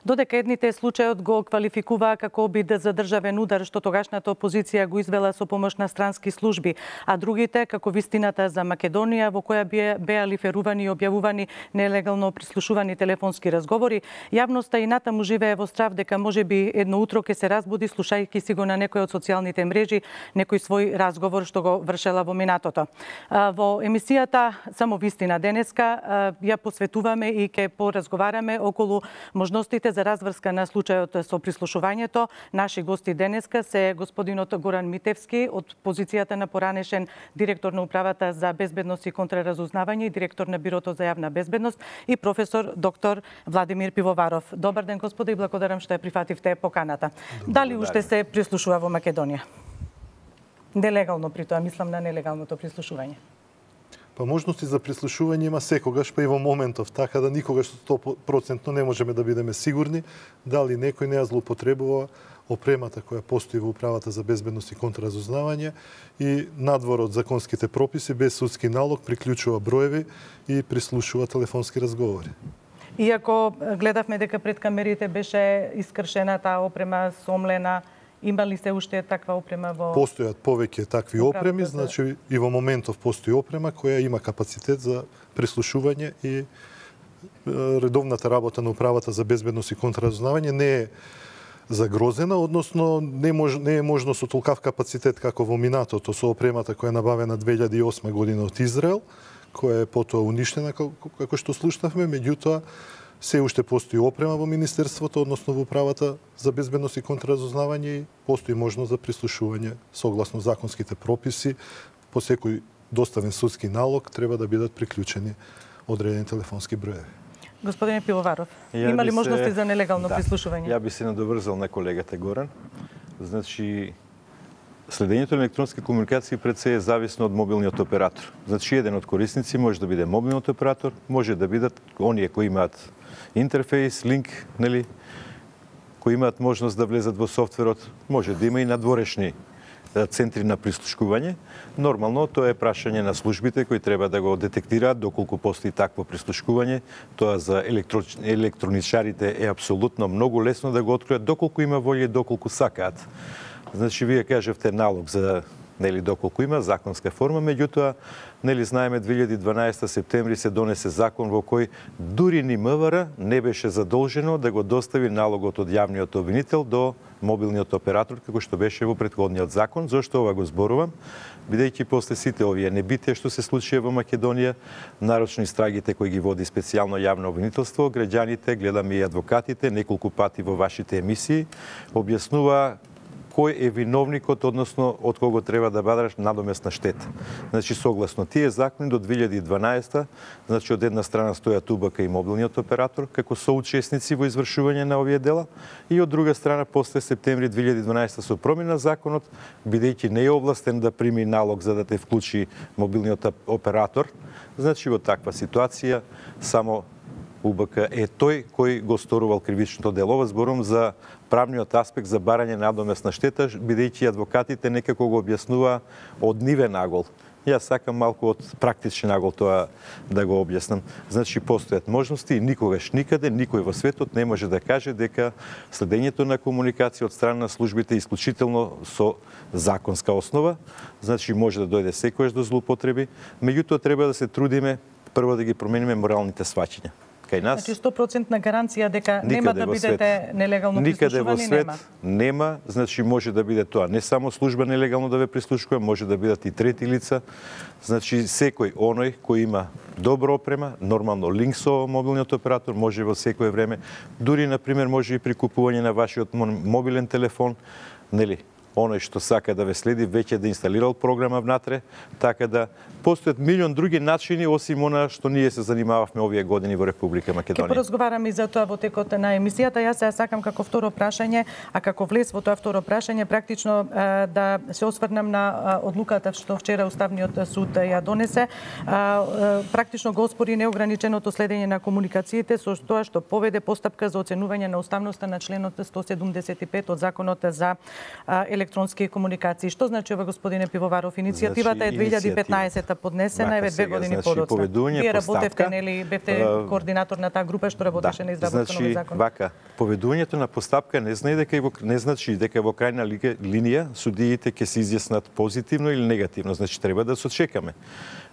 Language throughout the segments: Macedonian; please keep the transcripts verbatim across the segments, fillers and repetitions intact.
Додека едните случајот го квалификуваа како обид за државен удар што тогашната опозиција го извела со помош на странски служби, а другите како вистината за Македонија во која беа лиферувани и објавувани нелегално прислушувани телефонски разговори, јавноста и натаму живее во страв дека можеби едно утро ќе се разбуди слушајќи си го на некој од социјалните мрежи некој свој разговор што го вршела во минатото. Во емисијата Само вистина денеска ја посветуваме и ќе поразговараме околу можностите за разврска на случајот со прислушувањето. Наши гости денеска се господинот Горан Митевски од позицијата на поранешен директор на Управата за безбедност и контраразузнавање и директор на Бирото за јавна безбедност и професор доктор Владимир Пивоваров. Добар ден, господи, и благодарам што ја прифативте поканата. Дали уште се прислушува во Македонија? Нелегално при тоа, мислам на нелегалното прислушување. Па можности за прислушување има секогаш, па и во моментов, така да никогаш сто проценти не можеме да бидеме сигурни дали некој не ја злоупотребува опремата која постои во Управата за безбедност и контраразузнавање и надвор од законските прописи без судски налог приклучува броеви и прислушува телефонски разговори. Иако гледавме дека пред камерите беше искршена таа опрема, сомлена, има ли се уште таква опрема во... Постојат повеќе такви опреми, значи и во моментов постои опрема која има капацитет за прислушување и редовната работа на Управата за безбедност и контраразузнавање не е загрозена, односно не, мож, не е можно со толкав капацитет како во минатото со опремата која е набавена две илјади и осма година од Израел, која е потоа уништена како што слушнавме, меѓутоа се уште постои опрема во Министерството, односно во Управата за безбедност и контраразузнавање и постои можност за прислушување согласно законските прописи. По секој доставен судски налог треба да бидат приклучени одредени телефонски броеви. Господине Пивоваров, има ли се... можности за нелегално да, прислушување? Ја би се надоврзал на колегата Горан. Значи, следењето на електронски комуникации пред се е зависно од мобилниот оператор. Значи, еден од корисници може да биде мобилниот оператор, може да бидат оние кои имаат интерфейс, линк, нели, кои имаат можност да влезат во софтверот, може да има и надворешни центри на прислушкување. Нормално, тоа е прашање на службите кои треба да го детектираат доколку постои такво прислушкување. Тоа за електро... електроничарите е апсолутно многу лесно да го откријат доколку има волја и доколку сакаат. Значи, вие кажавте налог за нели доколку има законска форма, меѓутоа нели знаеме две илјади и дванаесета септември се донесе закон во кој дури ни МВР не беше задолжено да го достави налогот од јавниот обвинител до мобилниот оператор како што беше во претходниот закон. Зошто ова го зборувам? Бидејќи после сите овие небитија што се случија во Македонија, нарочно истрагите кои ги води специјално јавно обвинителство, граѓаните, гледаме и адвокатите неколку пати во вашите емисии објаснува кој е виновникот, односно од кого треба да бадаш надомесна штета. Значи, согласно тие закони до две илјади и дванаесета, значи од една страна стојат УБК и мобилниот оператор како соучесници во извршување на овие дела и од друга страна после септември две илјади и дванаесета со промена законот, бидејќи не е овластен да прими налог за да те вклучи мобилниот оператор, значи во таква ситуација само УБК е тој кој го сторувал кривичното дело. Ова зборувам за правниот аспект за барање надомесна штета, бидејќи адвокатите некако го објаснува од нивен агол. Јас сакам малку од практичен агол тоа да го објаснам. Значи, постојат можности и никогаш никаде никој во светот не може да каже дека следењето на комуникација од страна на службите е исклучително со законска основа. Значи, може да дојде секојаш до злоупотреби, меѓутоа треба да се трудиме прво да ги промениме моралните сваќања. Значи сто проценти гаранција дека нема да бидете нелегално прислушувани, нема. Никаде во свет нема, значи може да биде тоа не само служба нелегално да ве прислушува, може да бидат и трети лица. Значи секој оној кој има добра опрема, нормално линк со мобилниот оператор, може во секое време, дури на пример може и при купување на вашиот мобилен телефон, нели, оној што сака да ве следи веќе да инсталирал програма внатре, така да постојат милион други начини осим она што ние се занимававме овие години во Република Македонија. Ќе поразговараме и за тоа во текот на емисијата. Јас се сакам како второ прашање, а како влез во тоа второ прашање практично да се осврнам на одлуката што вчера Уставниот суд ја донесе. Практично го оспори неограниченото следење на комуникациите со тоа што поведе постапка за оценување на уставноста на членот сто седумдесет и пет од Законот за електронски електронски комуникации. Што значи ова, господине Пивоваров? Иницијативата значи, е две илјади и петнаесетта поднесена, еве две години значи, подоцна. Вие работевте, нели, бевте а, координатор на таа група што работеше да, на изработка значи, на овој закон. Вака, поведувањето на постапка не знае дека во, не значи дека во крајна линија судиите ќе се изјаснат позитивно или негативно, значи треба да се очекаме.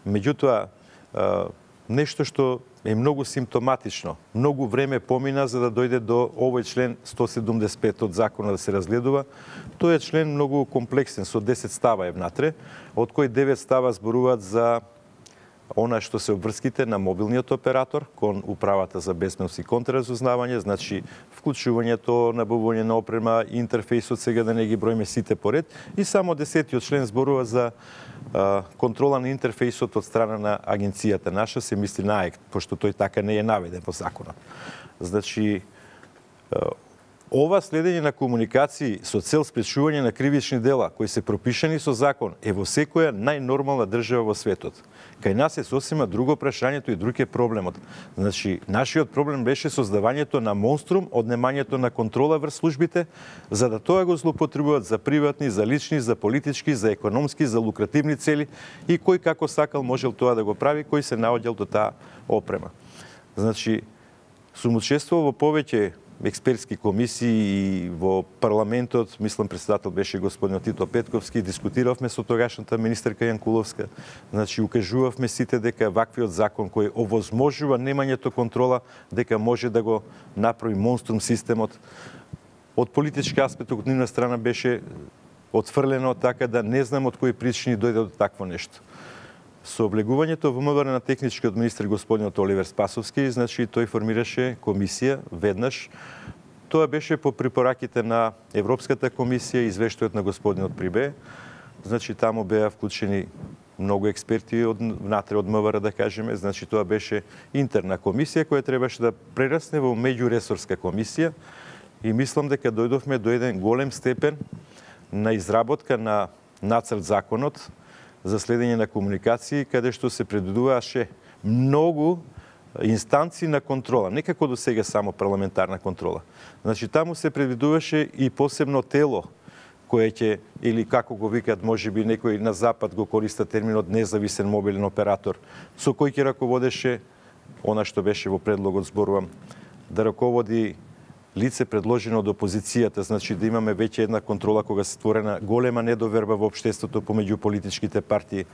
Меѓутоа, нешто што е многу симптоматично. Многу време помина за да дојде до овој член сто седумдесет и пет од закона да се разгледува. Тој е член многу комплексен, со десет става е внатре, од кои девет става зборуваат за она што се обврските на мобилниот оператор кон управата за безбедност и контраразузнавање, значи вклучувањето, набавување на опрема, интерфејсот, сега да не ги броиме сите поред, и само десетиот член зборува за а, контрола на интерфејсот од страна на агенцијата наша, се мисли на АЕК, пошто тој така не е наведен во законот. Значи, а, ова следење на комуникации со цел спречување на кривични дела кои се пропишани со закон е во секоја најнормална држава во светот. Кај нас е сосема друго прашањето и друг е проблемот. Значи, нашиот проблем беше создавањето на монструм, однемањето на контрола врз службите, за да тоа го злоупотребуваат за приватни, за лични, за политички, за економски, за лукративни цели и кој како сакал можел тоа да го прави, кој се наоѓал до таа опрема. Значи, сум учествувал во повеќе експертски комисии и во парламентот, мислам председател беше господин Тито Петковски, дискутиравме со тогашната министерка Јанкуловска, значи укажувавме сите дека ваквиот закон кој овозможува немањето контрола, дека може да го направи монструм системот. Од политички аспект од нивна страна беше отфрлено, така да не знам од кои причини дојде до такво нешто. Со облегувањето во МВР на техничкиот министер господинот Оливер Спасовски, значи тој формираше комисија веднаш. Тоа беше по препораките на Европската комисија и извештајот на господинот Прибе. Значи таму беа вклучени многу експерти од внатре од МВР, да кажеме. Значи тоа беше интерна комисија која требаше да прерасне во меѓуресорска комисија и мислам дека дојдовме до еден голем степен на изработка на нацрт законот за следење на комуникации, каде што се предвидуваше многу инстанции на контрола, не како до сега само парламентарна контрола. Значи, таму се предвидуваше и посебно тело, кое ќе, или како го викат, може би некој на запад го користа терминот независен мобилен оператор, со кој ќе раководеше, она што беше во предлогот, зборувам, да раководи лице предложено од опозицијата, значи да имаме веќе една контрола кога се створена голема недоверба во општеството помеѓу политичките партии.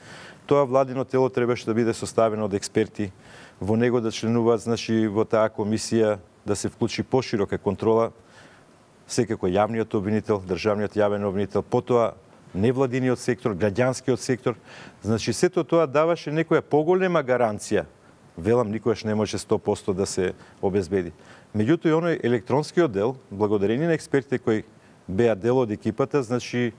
Тоа владино тело требаше да биде составено од експерти, во него да членуваат, значи во таа комисија да се вклучи поширока контрола, секако јавниот обвинител, државниот јавен обвинител, потоа невладиниот сектор, граѓанскиот сектор. Значи сето тоа даваше некоја поголема гаранција. Велам, никогаш не може сто проценти да се обезбеди. Меѓутоа, и оној електронскиот дел, благодарение на експертите кои беа дел од екипата, значи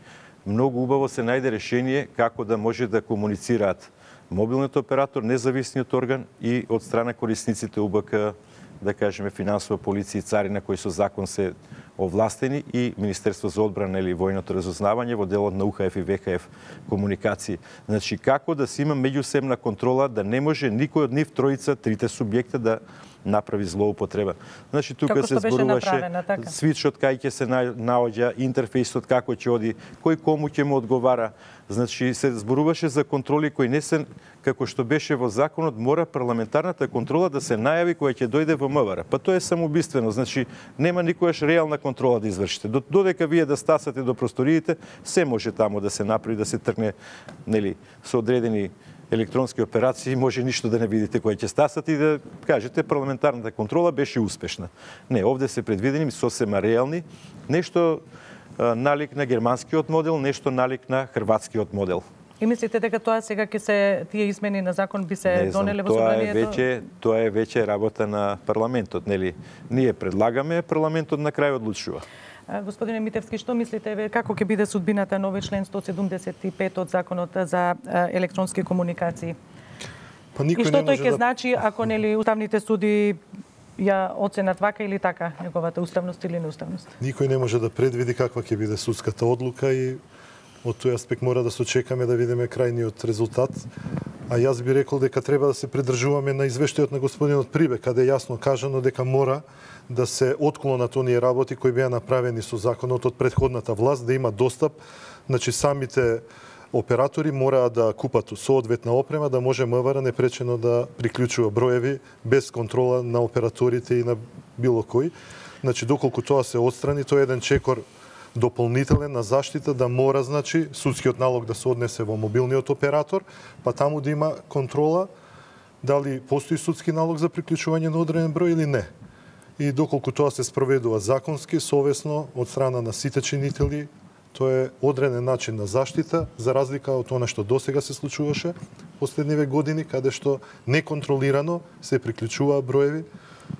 многу убаво се најде решение како да може да комуницираат мобилниот оператор, независниот орган и од страна корисниците УБК, да кажеме финансова полиција и царина кои со закон се овластени и Министерство за одбрана или војното разузнавање во делот на УХФ и ВХФ комуникации. Значи како да се има меѓусебна контрола, да не може никој од нив тројца, трите субјекта да направи злоупотреба. Значи тука се зборуваше така. Свичот кај ќе се наоѓа, интерфејсот како ќе оди, кој кому ќе му одговара. Значи се зборуваше за контроли кои не се како што беше во законот, мора парламентарната контрола да се најави која ќе дојде во МВР. Па тоа е самоубиствено, значи нема никогаш реална контрола да извршите. Додека вие да стасате до просториите, се може таму да се направи, да се тргне, нели, со одредени електронски операции, може ништо да не видите кој ќе стасат и да кажете парламентарната контрола беше успешна. Не, овде се предвидени сосема реални, нешто а, налик на германскиот модел, нешто налик на хрватскиот модел. И мислите дека тоа сега ќе се тие измени на закон би се донеле во собранието? Тоа е веќе тоа е веќе работа на парламентот, нели? Ние предлагаме, парламентот на крај одлучува. Господине Митевски, што мислите како ќе биде судбината на овој член сто седумдесет и пет од законот за електронски комуникации? Па и што тој ќе да... значи ако нели уставните суди ја оценат вака или така неговата уставност или неуставност? Никој не може да предвиди каква ќе биде судската одлука и од тој аспект мора да се очекаме да видиме крајниот резултат. А јас би рекол дека треба да се придржуваме на извештајот на господинот Прибе, каде е јасно кажано дека мора да се отклонат оние работи кои беа направени со законот од претходната власт, да има достап, значи самите оператори мора да купат соодветна опрема, да може МВР непречено да приклучува броеви без контрола на операторите и на било кој. Значи, доколку тоа се отстрани, тоа е еден чекор дополнителен на заштита да мора, значи, судскиот налог да се однесе во мобилниот оператор, па таму да има контрола дали постои судски налог за приклучување на одреден број или не. И доколку тоа се спроведува законски, совесно, од страна на сите чинители, тоа е одреден начин на заштита, за разлика од она што досега се случуваше последниве години, каде што неконтролирано се приклучуваа броеви.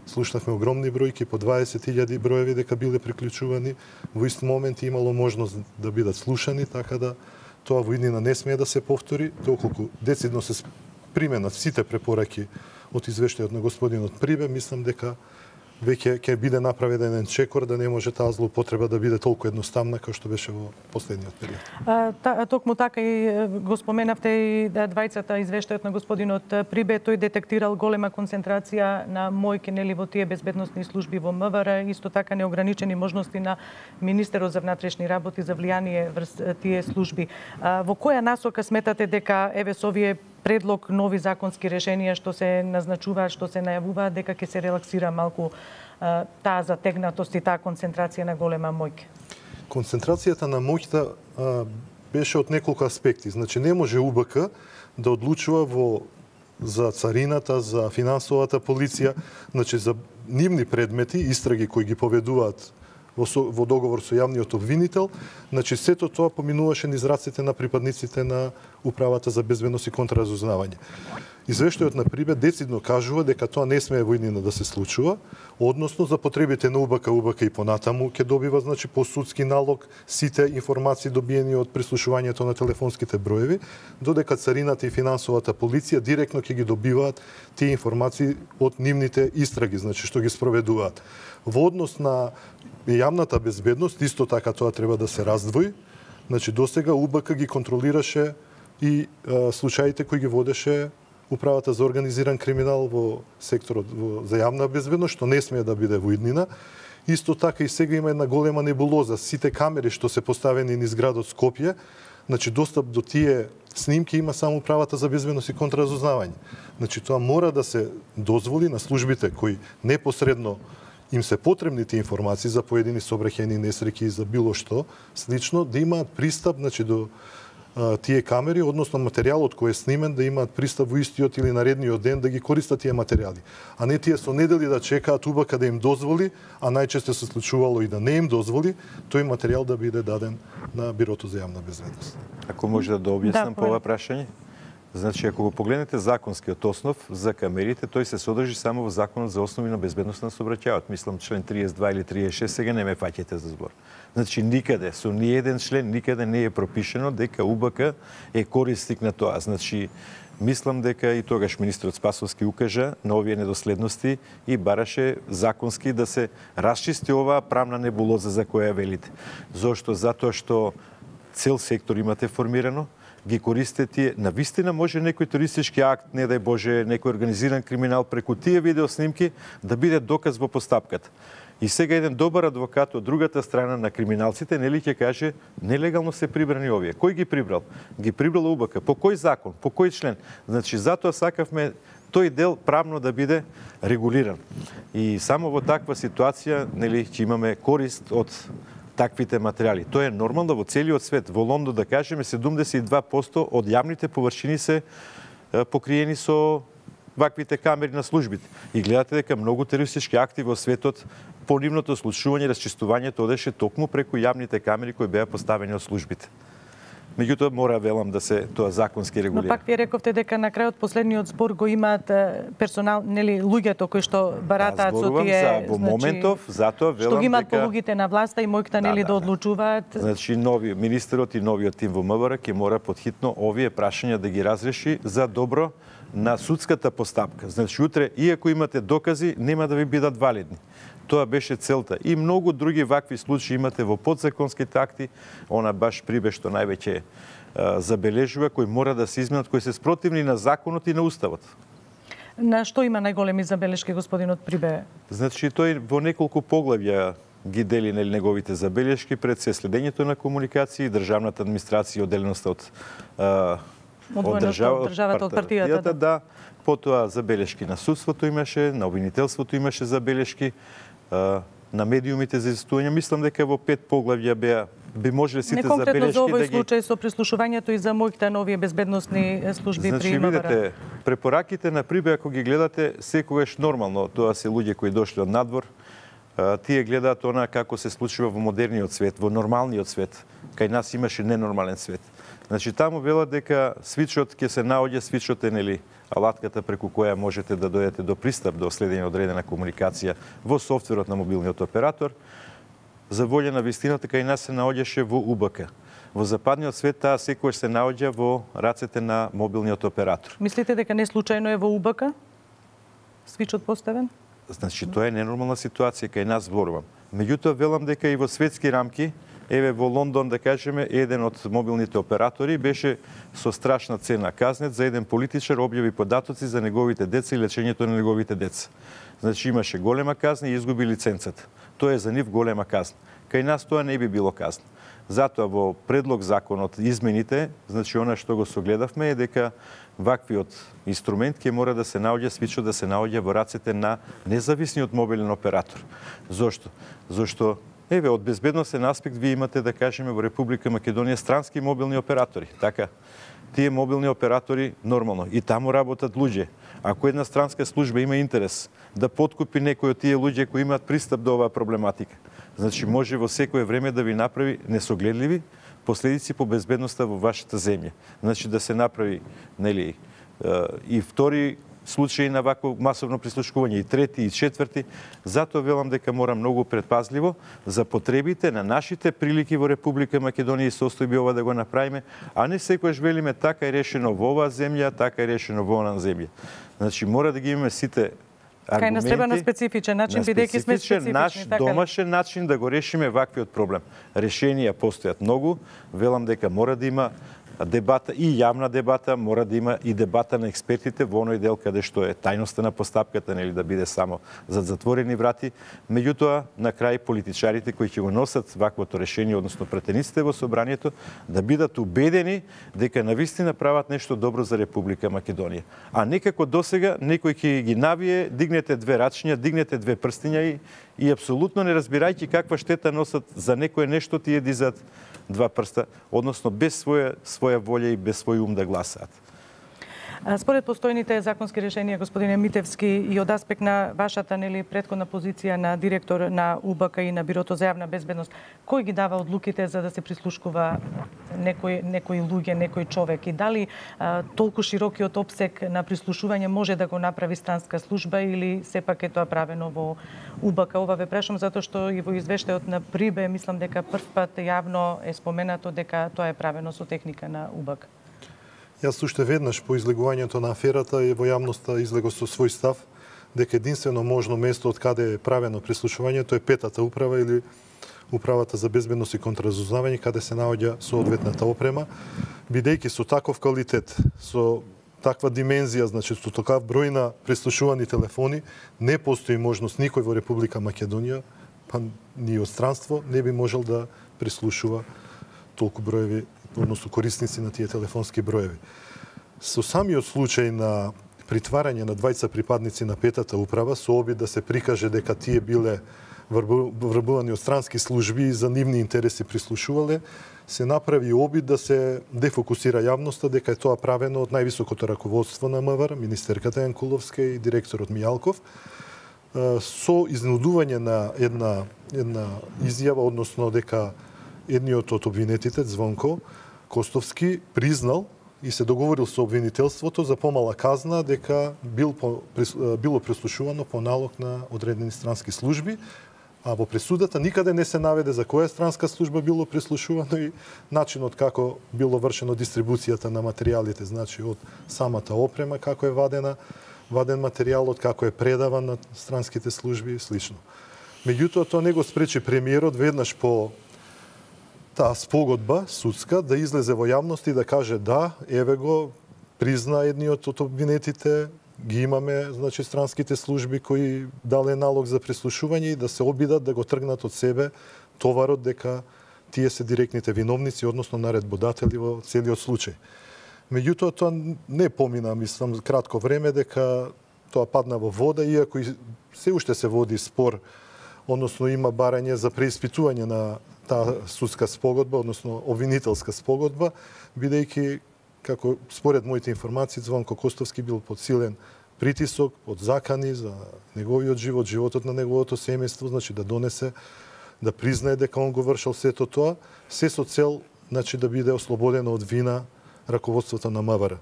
Слушнавме огромни бројки, по дваесет илјади броеви дека биле приклучувани, во ист момент имало можност да бидат слушани, така да тоа во иднина не смее да се повтори, доколку децидно се применат сите препораки од извештајот на господинот Прибе, мислам дека веќе ќе биде направен еден чекор да не може таа злоупотреба да биде толку едноставна како што беше во последниот период. А, та, токму така и го споменавте и да двајцата извештајот на господинот Прибе, тој детектирал голема концентрација на мојки нели во тие безбедносни служби во МВР, исто така неограничени можности на министерот за внатрешни работи за влијание врз тие служби. А, во која насока сметате дека еве со овие предлог нови законски решенија што се назначуваат, што се најавуваат, дека ќе се релаксира малку а, таа затегнатост и таа концентрација на голема мојка? Концентрацијата на моќта а, беше од неколку аспекти. Значи не може У Б К да одлучува во за царината, за финансовата полиција, значи за нивни предмети, истраги кои ги поведуваат во, во договор со јавниот обвинител, значи сето тоа поминуваше низ рацете на припадниците на Управата за безбедност и контраразузнавање. Извештајот на Прибе децидно кажува дека тоа не смее во иднина да се случува, односно за потребите на У Б К, У Б К и понатаму ќе добива, значи, по судски налог сите информации добиени од прислушувањето на телефонските броеви, додека царината и финансовата полиција директно ќе ги добиваат тие информации од нивните истраги, значи што ги спроведуваат. Во однос на јавната безбедност, исто така тоа треба да се раздвои. Значи, досега У Б К ги контролираше и а, случаите кои ги водеше Управата за организиран криминал во секторот во, за јавна безбедност, што не смее да биде во иднина. Исто така и сега има една голема небулоза. Сите камери што се поставени низ градот Скопје, значи достап до тие снимки има само Управата за безбедност и контраразузнавање. Значи, тоа мора да се дозволи на службите кои непосредно им се потребни тие информации за поедини сообраќајни несреќи и за било што слично, да имаат пристап, значи, до а, тие камери, односно материјалот кој е снимен, да имаат пристап во истиот или наредниот ден да ги користат тие материјали. А не тие со недели да чекаат У Б К да им дозволи, а најчесто се случувало и да не им дозволи, тој материјал да биде даден на Бирото за јавна безбедност. Ако може да дообјаснам Да, по ова прашање? Значи, ако го погледнете законскиот основ за камерите, тој се содржи само во Законот за основи на безбедност на сообраќајот. Мислам, член триесет и два или триесет и шест, сега не ме фаќате за збор. Значи, никаде, со ниеден член, никаде не е пропишено дека У Б К е корисник на тоа. Значи, мислам дека и тогаш министерот Спасовски укажа на овие недоследности и бараше законски да се расчисти оваа правна небулоза за која велите. Зошто? Затоа што цел сектор имате формирано, ги користите тие. Навистина може некој терористички акт, не дај Боже, некој организиран криминал преку тие видеоснимки да биде доказ во постапката. И сега еден добар адвокат од другата страна на криминалците нели ќе каже нелегално се прибрани овие. Кој ги прибрал? Ги прибрал У Б К. По кој закон? По кој член? Значи, затоа сакавме тој дел правно да биде регулиран. И само во таква ситуација нели ќе имаме корист од таквите материјали. Тоа е нормално во целиот свет. Во Лондон, да кажеме, седумдесет и два проценти од јавните површини се покриени со ваквите камери на службите. И гледате дека многу терористички акти во светот по нивното случување, расчистувањето одеше токму преку јавните камери кои беа поставени од службите. Меѓутоа мора, велам, да се тоа законски регулира. Но пак вие рековте дека на крајот последниот збор го имаат персонал, нели, луѓето кои што баратаат да, со тие, за, во значи, моментов, затоа велам што ги имаат дека полугите на власта и мојката, нели, да, да, да одлучуваат. Значи, нови министерот и новиот тим во М В Р ќе мора потхитно овие прашања да ги разреши за добро на судската постапка. Значи, утре, иако имате докази, нема да ви бидат валидни. Тоа беше целта. И многу други вакви случаи имате во подзаконските акти. Она баш Прибе што највеќе забележува, кои мора да се изменат, кои се спротивни на законот и на уставот. На што има најголеми забелешки господинот Прибе? Значи тој во неколку поглавја ги дели нели неговите забелешки, пред се следењето на комуникации, државната администрација, одделеноста од од држава, од државата, од партијата, да. да. Потоа забелешки на судството имаше, на обвинителството имаше забелешки, на медиумите за изистување. Мислам дека во пет поглавја беа би можеле сите забелешки да ги... Не конкретно за овој случај со прислушувањето и за моите нови безбедносни служби значи, при МВР. Значи, видите, препораките на Прибе, ако ги гледате, секогаш нормално, тоа се луѓе кои дошли од надвор, тие гледаат она како се случува во модерниот свет, во нормалниот свет. Кај нас имаше ненормален свет. Значи, таму велат дека свичот ќе се наоѓа, свичот е, нели, алатката преку која можете да дојдете до пристап до следење одредена комуникација во софтверот на мобилниот оператор. За волја на вистината, кај нас се наоѓаше во У Б К. Во западниот свет таа секогаш се наоѓа во рацете на мобилниот оператор. Мислите дека не случајно е во У Б К свичот поставен? Значи, тоа е ненормална ситуација, кај нас зборувам. Меѓутоа, велам дека и во светски рамки, еве во Лондон, да кажеме, еден од мобилните оператори беше со страшна цена казнет за еден политичар објави податоци за неговите деца и лечењето на неговите деца. Значи, имаше голема казна и изгуби лиценцата. Тоа е за нив голема казна. Кај нас тоа не би било казна. Затоа во предлог законот измените, значи она што го согледавме е дека ваквиот инструмент ќе мора да се наоѓа, свичот да се наоѓа во рацете на независниот мобилен оператор. Зошто? Зошто еве од безбедносен аспект вие имате, да кажеме, во Република Македонија странски мобилни оператори, така? Тие мобилни оператори нормално и таму работат луѓе. Ако една странска служба има интерес да подкупи некој од тие луѓе кои имаат пристап до оваа проблематика, значи може во секое време да ви направи несогледливи последици по безбедноста во вашата земја. Значи да се направи, нели, и втори случаи на вакво масовно прислушкување, и трети, и четврти. Затоа велам дека мора многу предпазливо за потребите на нашите прилики во Република Македонија и состојби ова да го направиме, а не секојаш велиме така е решено во оваа земја, така е решено во онаа земја. Значи мора да ги имаме сите аргументи. Кај нас треба на специфичен начин, бидејќи сме специфични. Наш така домашен начин да го решиме ваквиот проблем. Решенија постојат многу, велам дека мора да има дебата и јавна дебата, мора да има и дебата на експертите во оној дел каде што е тајноста на постапката, нели да биде само зад затворени врати. Меѓутоа, на крај политичарите кои ќе го носат ваквото решение, односно претениците во собранието, да бидат убедени дека навистина прават нешто добро за Република Македонија. А некако досега некој ќе ги навие, дигнете две рачиња, дигнете две прстиња и, и апсолутно не разбирајќи каква штета носат за некое нешто, тие дизат два прста, односно без своја, своја волја и без свој ум да гласаат. Според постојните законски решенија, господине Митевски, и од аспект на вашата нели претходна позиција на директор на У Б К и на Бирото за јавна безбедност, кој ги дава одлуките за да се прислушкува некој некој луѓе, некој човек, и дали а, толку широкиот опсек на прислушување може да го направи странска служба или сепак е тоа правено во У Б К? Ова ве прашам затоа што и во извештајот на Прибе мислам дека првпат јавно е споменато дека тоа е правено со техника на У Б К. Јас уште веднаш по излегувањето на аферата и во јавноста излего со свој став дека единствено можно место од каде е правено прислушувањето е петата управа или Управата за безбедност и контраразузнавање, каде се наоѓа соодветната опрема, бидејќи со таков квалитет, со таква димензија, значи со такав број на прислушувани телефони, не постои можност никој во Република Македонија, па ни од странство, не би можел да прислушува толку броеви, односно корисници на тие телефонски броеви. Со самиот случај на притварање на двајца припадници на петата управа, со обид да се прикаже дека тие биле врбувани од странски служби и за нивни интереси прислушувале, се направи обид да се дефокусира јавноста дека е тоа правено од највисокото раководство на МВР, министерката Јанкуловска и директорот Мијалков, со изнудување на една, една изјава, односно дека едниот од обвинетите, Звонко Костовски, признал и се договорил со обвинителството за помала казна дека бил по, било прислушувано по налог на одредени странски служби, а во пресудата никаде не се наведе за која странска служба било прислушувано и начинот како било вршено дистрибуцијата на материјалите, значи од самата опрема, како е вадена, ваден материјалот, како е предаван на странските служби и слично. Меѓутоа, тоа не го спречи премиерот веднаш по таа спогодба судска да излезе во јавност и да каже да, еве го, призна едниот од обвинетите, ги имаме, значи, странските служби кои дале налог за прислушување и да се обидат да го тргнат од себе товарот дека тие се директните виновници, односно наредбодатели во целиот случај. Меѓутоа, тоа не помина, мислам, кратко време дека тоа падна во вода, иако и се уште се води спор, односно има барање за преиспитување на таа судска спогодба, односно обвинителска спогодба, бидејќи, како според моите информации, Звонко Костовски бил под силен притисок, од закани за неговиот живот, животот на неговото семејство, значи да донесе, да признае дека он го вршил сето тоа, се со цел, значи, да биде ослободено од вина раководството на МВР.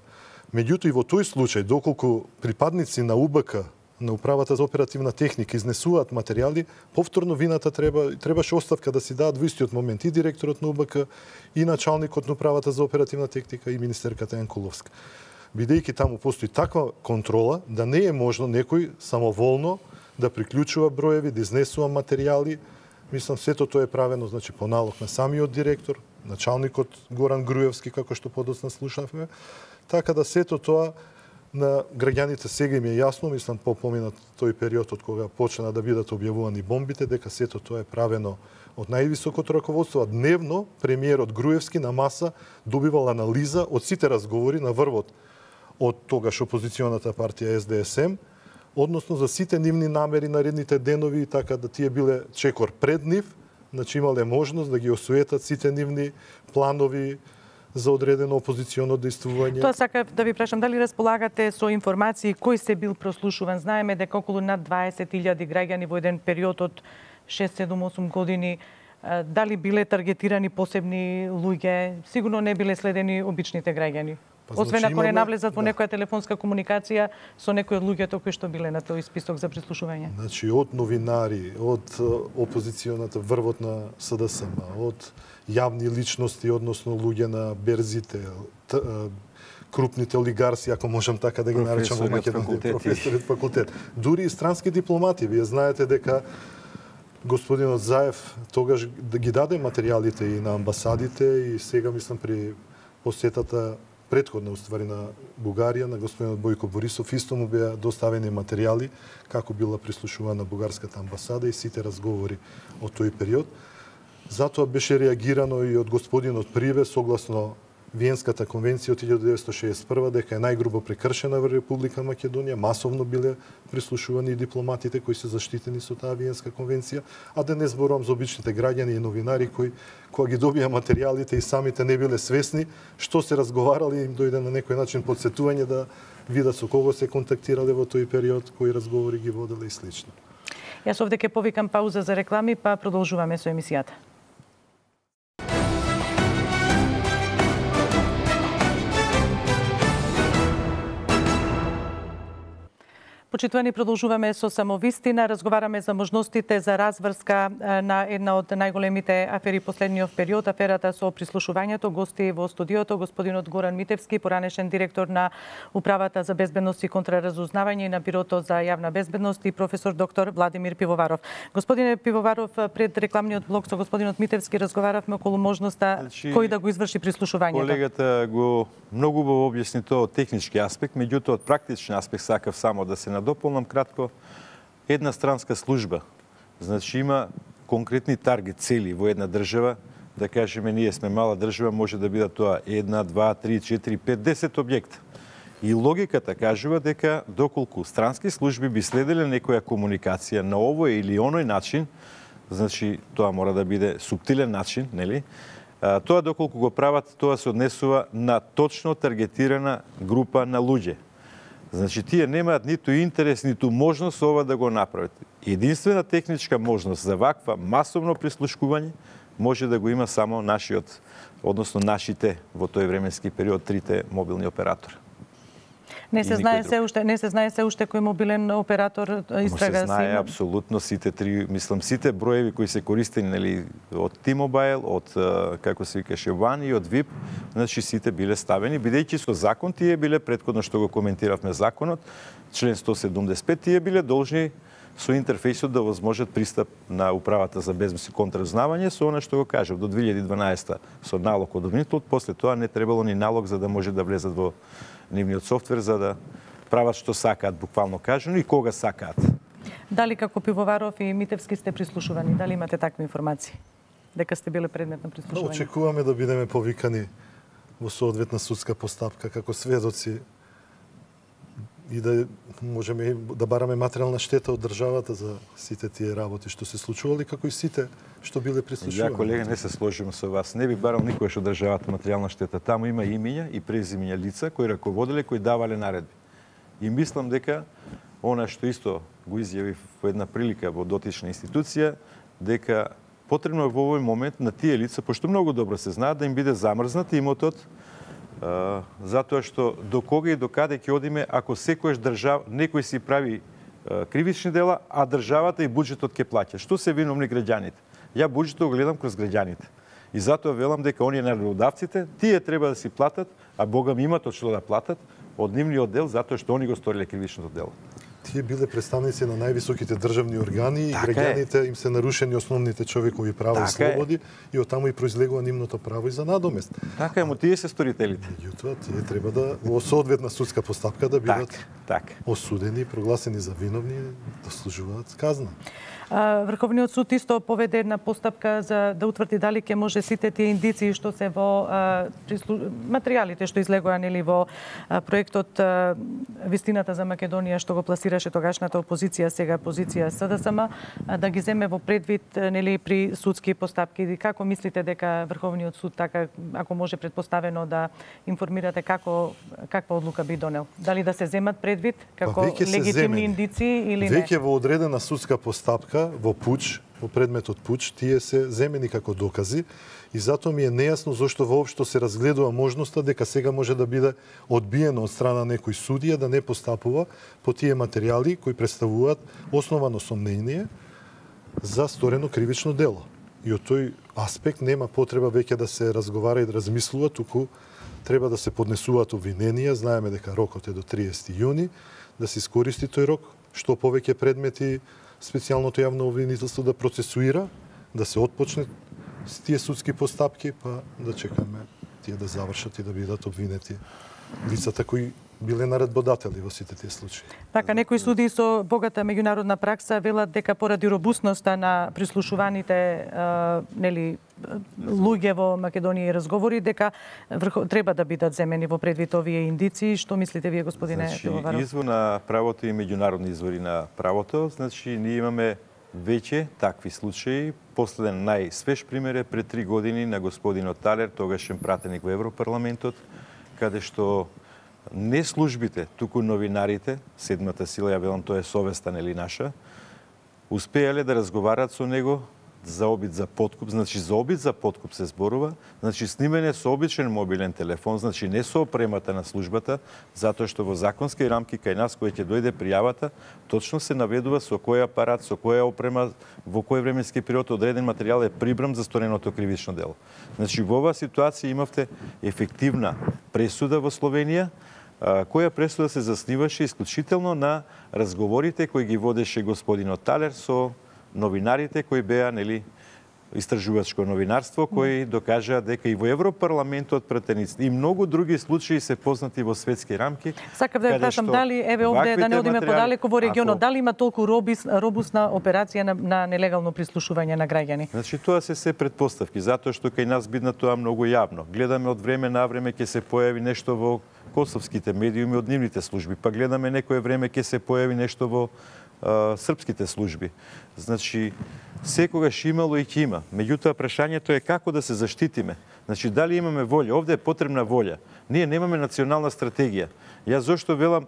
Меѓутоа и во тој случај, доколку припадници на У Б К, на Управата за оперативна техника, изнесуваат материјали, повторно вината треба, требаше оставка да си дадат во истиот момент и директорот на У Б К, и началникот на Управата за оперативна техника, и министерката Јанкуловска. Бидејќи таму постои таква контрола, да не е можно некој самоволно да приклучува броеви, да изнесува материјали. Мислам, сето тоа е правено, значи, по налог на самиот директор, началникот Горан Груевски, како што подоцна слушавме. Така да сето тоа на граѓаните сега им е јасно, мислам, по поминат тој период од кога почна да бидат објавувани бомбите, дека сето тоа е правено од највисокото раководство. А дневно премиерот Груевски на маса добивал анализа од сите разговори на врвот од тогаш опозиционата партија С Д С М, односно за сите нивни намери наредните денови, и така да тие биле чекор пред нив, значи имале можност да ги осуетат сите нивни планови за одредено опозиционо дејствување. Тоа сакав да ви прашам, дали располагате со информации кој се бил прослушуван? Знаеме дека околу над дваесет илјади граѓани во еден период од шест, седум, осум години, дали биле таргетирани посебни луѓе? Сигурно не биле следени обичните граѓани. Па, освен значи, ако не навлезат во да. некоја телефонска комуникација со некои од луѓето кои што биле на тој список за прислушување. Значи, од новинари, од опозиционата врвот на С Д С М, од јавни личности, односно луѓе на берзите, т, крупните олигарси, ако можам така да ги наречам во Македонија, професорот факултет. Дури и странски дипломати. Вие знаете дека господинот Заев тогаш ги даде материјалите и на амбасадите, и сега, мислам, при посетата предходна уствари на Бугарија, на господинот Бојко Борисов, исто му беа доставени материјали како била прислушувана бугарската амбасада и сите разговори од тој период. Затоа беше реагирано и од господинот Прибе согласно Виенската конвенција од илјадесетстотини деветдесет и шеесет и прва дека е најгрубо прекршена во Република Македонија, масовно биле прислушувани и дипломатите кои се заштитени со таа Виенска конвенција, а да не зборувам за обичните граѓани и новинари кои кога ги добија материјалите и самите не биле свесни што се разговарали, им дојде на некој начин потсетување да видат со кого се контактирале во тој период, кои разговори ги воделе и слично. Јас овде ќе повикам пауза за реклами, па продолжуваме со емисијата. Почитувани, продолжуваме со Самовистина. Разговараме за можностите за разврска на една од најголемите афери последниот период, аферата со прислушувањето. Гости во студиото господинот Горан Митевски, поранешен директор на Управата за безбедност и контраразузнавање и на Бирото за јавна безбедност, и професор доктор Владимир Пивоваров. Господине Пивоваров, пред рекламниот блок со господинот Митевски разговаравме околу можноста значи, кој да го изврши прислушувањето. Колегата го многу убаво објасни тоа од технички аспект, меѓутоа од практичен аспект сакав само да се дополнам кратко. Една странска служба, значи има конкретни таргет цели во една држава, да кажеме ние сме мала држава, може да бидат тоа една, два, три, четири, пет, десет објекта. И логиката кажува дека доколку странски служби би следеле некоја комуникација на овој или оној начин, значи тоа мора да биде суптилен начин, нели? Тоа доколку го прават, тоа се однесува на точно таргетирана група на луѓе. Значи, тие немаат ниту интерес, ниту можност ова да го направат. Единствена техничка можност за ваква масовно прислушкување може да го има само нашиот, односно нашите во тој временски период трите мобилни оператори. Не се знае се уште, не се знае се уште кој мобилен оператор истрага се знае апсолутно сите три, мислам сите броеви кои се користени, нели, од T-Mobile, од како се викаше One и од VIP, значи сите биле ставени, бидејќи со закон тие биле предходно што го коментиравме законот, член сто седумдесет и пет, тие биле должни со интерфејсот да возможат пристап на управата за безбедност и контраразузнавање со она што го кажав до две илјади и дванаесета со налог од обвинителот, после тоа не требало ни налог за да може да влезат во нивниот софтвер за да прават што сакаат, буквално кажано, и кога сакаат. Дали како Пивоваров и Митевски сте прислушувани? Дали имате такви информации? Дека сте биле предмет на прислушување? Очекуваме да бидеме повикани во соодветна судска постапка како сведоци и да можеме да бараме материјална штета од државата за сите тие работи што се случували, како и сите што биле прислушувани. Ја, колега, не се сложим со вас. Не би барал никогаш од државата материјална штета. Таму има имиња и презимиња лица кои раководеле, кои давале наредби. И мислам дека она што исто го изјави во една прилика во дотична институција, дека потребно е во овој момент на тие лица, пошто многу добро се знаат, да им биде замрзнат имотот, Uh, затоа што до кога и до каде ќе одиме ако секојаш држава некој си прави uh, кривични дела, а државата и буџетот ќе плаќа. Што се виновни граѓаните? Ја буџетот го гледам кроз граѓаните. И затоа велам дека оние наредбодавците, тие треба да си платат, а Бога ми имат од што да платат од нивниот дел затоа што они го сториле кривичното дело. Тие биле представници на највисоките државни органи така и граѓаните им се нарушени основните човекови права така и слободи е. И оттаму и произлегува нивното право и за надомест. Така е, му тие се сторителите. Меѓутоа, тие треба да во соодветна судска постапка да бидат так, так. осудени, прогласени за виновни, да служуваат казна. Врховниот суд исто поведе една постапка за да утврди дали ќе може сите тие индиции што се во а, прислу... материјалите што излегоа нели во а, проектот а, Вистината за Македонија што го пласираше тогашната опозиција, сега позиција СДСМ, а, да ги земе во предвид нели при судски постапки. И како мислите дека Врховниот суд така, ако може предпоставено да информирате како каква одлука би донел? Дали да се земат предвид како легитимни индиции или не? Веќе во одредена судска постапка во пуч, во предметот пуч, тие се земени како докази и затоа ми е нејасно зошто воопшто се разгледува можноста дека сега може да биде одбиено од страна некој судија да не постапува по тие материјали кои представуваат основано сомнение за сторено кривично дело. И од тој аспект нема потреба веќе да се разговара и да размислува, туку треба да се поднесуваат обвиненија. Знаеме дека рокот е до триесети јуни, да се искористи тој рок, што повеќе предмети специјалното јавно обвинителство да процесуира, да се отпочне с тие судски постапки, па да чекаме тие да завршат и да бидат обвинети лицата кои биле наредбодатели во сите тие случаи. Така, некои судии со богата меѓународна пракса велат дека поради робусноста на прислушуваните а, нели луѓе во Македонија и разговори, дека врхо, треба да бидат земени во предвид овие индиции. Што мислите вие, господине Пивоваров? Значи, извор на правото и меѓународни извори на правото, значи ние имаме веќе такви случаи. Последен најсвеж пример е пред три години на господинот Талер, тогашен пратеник во Европарламентот, каде што не службите, туку новинарите, седмата сила, ја велам, тоа е совеста нели наша, успеале да разговарат со него за обид за подкуп, значи за обид за подкуп се зборува, значи снимање со обичен мобилен телефон, значи не со опремата на службата, затоа што во законски рамки кај нас кој ќе дојде пријавата, точно се наведува со кој апарат, со која опрема, во кој временски период одреден материјал е прибран за стореното кривично дело. Значи во оваа ситуација имавте ефективна пресуда во Словенија, која пресуда се засниваше исклучително на разговорите кои ги водеше господинот Талер со новинарите кои беа нели истражувачко новинарство, кои докажаа дека и во Европарламентот пратеници и многу други случаи се познати во светски рамки. Сакав да ја прашам дали еве овде да не одиме подалеку во регионот, ако... дали има толку робис, робусна операција на, на нелегално прислушување на граѓани? Значи тоа се се претпоставки, затоа што кај нас бидна тоа многу јавно. Гледаме од време на време ќе се појави нешто во косовските медиуми од нивните служби, па гледаме некое време ќе се појави нешто во а, српските служби. Значи, секогаш имало и ќе има. Меѓутоа, прашањето е како да се заштитиме. Значи, дали имаме волја? Овде е потребна волја. Ние немаме национална стратегија. Јас зошто велам,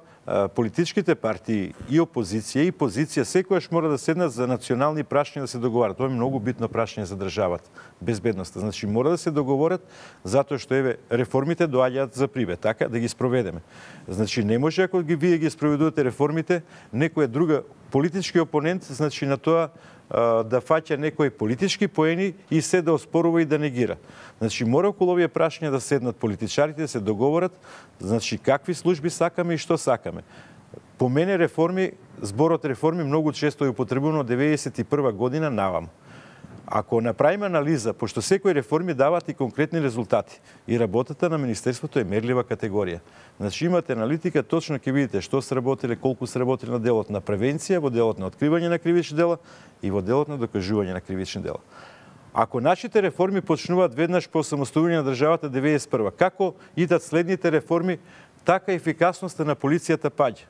политичките партии и опозиција и позиција секогаш мора да седнат за национални прашања да се договарат. Тоа е многу битно прашање за државата, безбедноста. Значи, мора да се договорат затоа што еве реформите доаѓаат за привед, така да ги спроведеме. Значи, не може ако ги вие ги спроведувате реформите, некоја друга политички опонент, значи на тоа да фаќа некои политички поени и се да оспорува и да негира. Значи, мора околу овие прашања да седнат политичарите, да се договорат, значи, какви служби сакаме и што сакаме. По мене реформи, зборот реформи многу често е употребувано од деветдесет и прва година навам. Ако направиме анализа, пошто секои реформи дават и конкретни резултати, и работата на Министерството е мерлива категорија. Значи имате аналитика, точно ќе видите што сработиле, колку сработиле на делот на превенција, во делот на откривање на кривични дела и во делот на докажување на кривични дела. Ако нашите реформи почнуваат веднаш по самостојување на државата деветдесет и прва, како идат следните реформи, така ефикасноста на полицијата паѓа.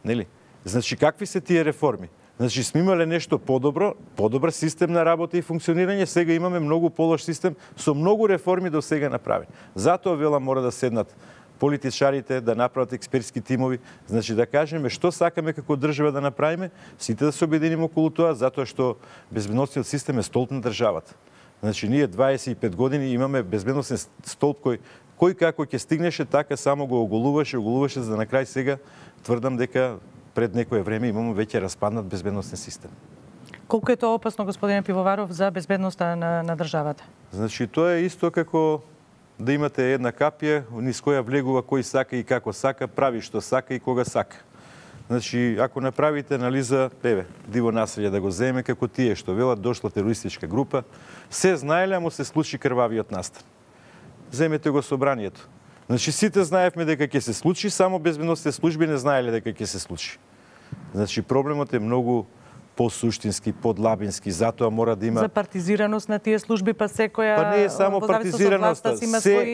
Нели? Значи какви се тие реформи? Значи сме имале нешто подобро, подобар систем на работа и функционирање, сега имаме многу полош систем со многу реформи до сега направени. Затоа вела мора да седнат политичарите, да направат експертски тимови, значи да кажеме што сакаме како држава да направиме, сите да се обединиме околу тоа, затоа што безбедносниот систем е столб на државата. Значи ние дваесет и пет години имаме безбедносен столб кој кој како ќе стигнеше, така само го оголуваше, оголуваше, за да на крај сега тврдам дека пред некое време имаме веќе распаднат безбедносен систем. Колку е тоа опасно, господине Пивоваров, за безбедноста на, на државата? Значи тоа е исто како да имате една капија низ која влегува кој сака и како сака, прави што сака и кога сака. Значи, ако направите анализа, еве, диво населје да го земе како тие што велат дошла терористичка група, се знаеле, а му се случи крвавиот настан. Земете го собранието. Значи, сите знаевме дека ќе се случи, само безбедносните служби не знаеле дека ќе се случи. Значи, проблемот е многу посуштински, подлабински, затоа мора да има... За партизираност на тие служби, па секоја... Па не е само партизираноста, се,